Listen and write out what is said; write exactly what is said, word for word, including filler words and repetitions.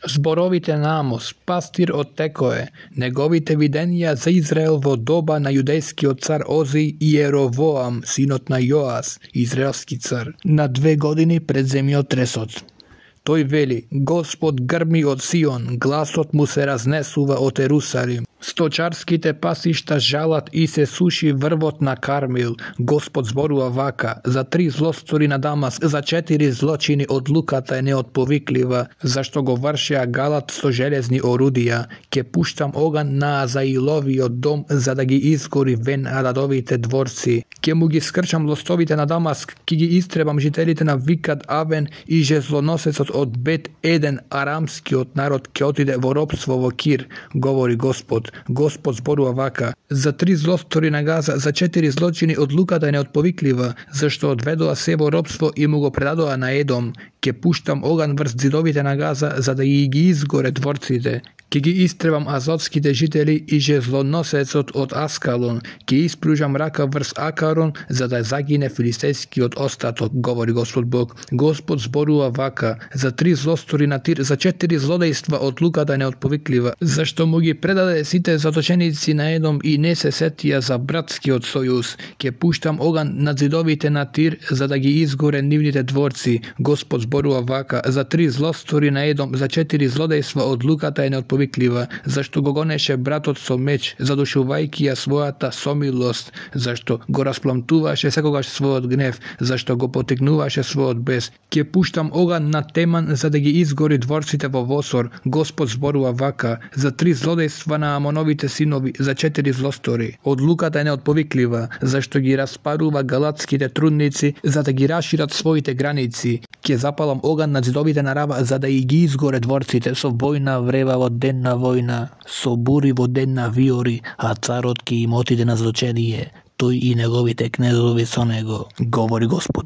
Зборовите на Амос, пастир од Текое, неговите виденија за Израел во доба на јудејскиот цар Ози и Еровоам, синот на Јоас, израелски цар, на две години пред земјотресот. Тој вели: Господ грми од Сион, гласот му се разнесува од Ерусалим. Сточарските пасишта жалат и се суши врвот на Кармил. Господ зборува вака: за три злостори на Дамаск, за четири злочини одлуката е неотповиклива, зашто го вршеа Галат со железни орудија. Ке пуштам оган на Азаиловиот дом, за да ги изгори Вен Ададовите дворци. Ке му ги скрчам лостовите на Дамаск, ке ги истребам жителите на Викат Авен и жезлоносецот од Бет Еден, арамскиот народ ке отиде во робство во Кир, говори Господ. Господ зборува вака: за три злостори на Газа, за четири злочини одлуката е неотповиклива, зашто одведоа се во робство и му го предадоа на Едом. Ке пуштам оган врз зидовите на Газа, за да и ги изгоре дворците. Ке ги истребам азотските жители и жезлоносецот од Аскалон. Ке испружам рака врз Акарон, за да загине филистејскиот остаток, говори Господ Бог. Господ зборува вака: за три злостори на Тир, за четири злодејства одлуката неотповиклива, зашто му ги предаде сите заточеници на Едом и не се сетија за братскиот сојуз. Ке пуштам оган над зидовите на Тир, за да ги изгоре нивните дворци. Господ зборува вака: за три злостори на Едом, за четири злодејства одлуката е неотповиклива, зашто го гонеше братот со меч, задушувајќи ја својата сомилост, зашто го распламтуваше секогаш својот гнев, зашто го потикнуваше својот бес. Ке пуштам оган на Теман, за да ги изгори дворците во Восор. Господ зборува вака: за три злодејства на Амоновите синови, за четири злостори одлуката е неотповиклива, зашто ги распарува галатските трудници, за да ги рашират своите граници. Ке запалам оган на зидовите на Рава, за да и ги изгоре дворците. Со војна врева во ден на војна, со бури во ден на виори, а царот ке им отиде на злочение, тој и неговите кнезови со него, говори Господ.